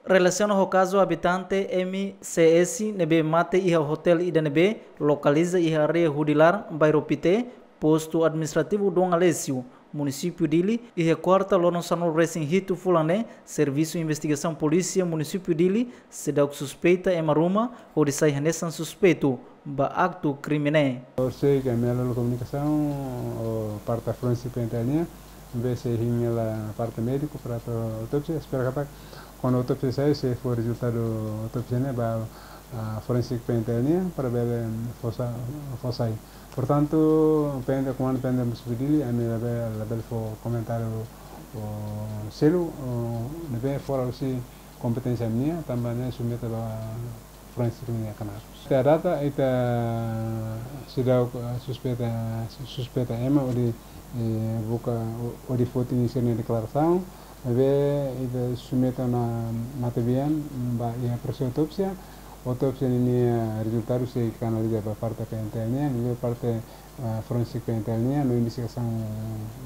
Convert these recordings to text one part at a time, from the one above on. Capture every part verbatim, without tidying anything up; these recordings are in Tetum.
Relasiona ho kazu habitante M C S ne'ebé mate iha hotel ida ne'ebé lokaliza iha área Hudilar, bairru Pite, postu administrativu Dom Aleixo, munisípiu Dili, iha kuarta loron sanulu resin hitu fulan ne'e, servisu investigasaun polísia munisípiu Dili seidauk suspeita ema ruma hodi sai hanesan suspeitu ba aktu krime ne'e. Horisehik ami halo komunikasaun ho parte forense P N T L nian, ne'ebé sei hein hela parte médiku para atu autópsia, espera katak kuandu autópsia sai, sei fó rezultadu autópsia ne'e ba, ah, forense P N T L nian para bele fó sa-, fó sai. Portantu, P N T L, komandu P N T L munisípiu Dili, ami labele, labele fó komentáriu, o, seluk, o, ne'ebé fora husi kompeténsia ami-nian, tanba ne'e submete ba forense ami-nian knaar. Até à data, ita seidauk, eh, suspeita, suspeita ema hodi, eh, buka, hodi foti sira-nia deklarasaun, maibé ita submete ona matebian ba iha prosesu autópsia. Autópsia ninia rezultadu sei kanaliza ba parte P N T L nian, liuliu parte, eh, forense P N T L nian, no investigasaun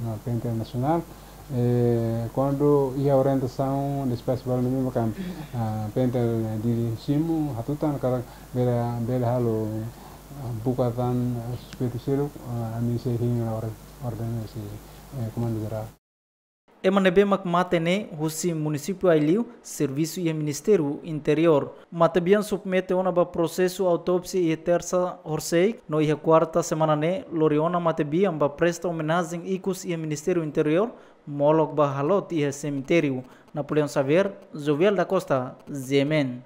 na P N T L nasionál. Eh, kuandu iha orientasaun despaxu balu ne'e maka, ah, P N T L Dili simu, hatutan katak bele, bele halo, ah, buka tan, ah, suspeitu seluk, ah, ami sei hein hela orden, orden husi, eh, Komandu Jerál. Ema ne'ebé mak mate ne'e husi munisípiu Aileu, servisu iha Ministériu Interiór. Matebian submete ona ba prosesu autópsia iha tersa horisehik, no iha kuarta semana ne'e lori ona matebian ba presta omenajen ikus iha Ministériu Interiór, molok ba halot iha semitériu. Napoleão Xavier, Jovial da Costa, G M N.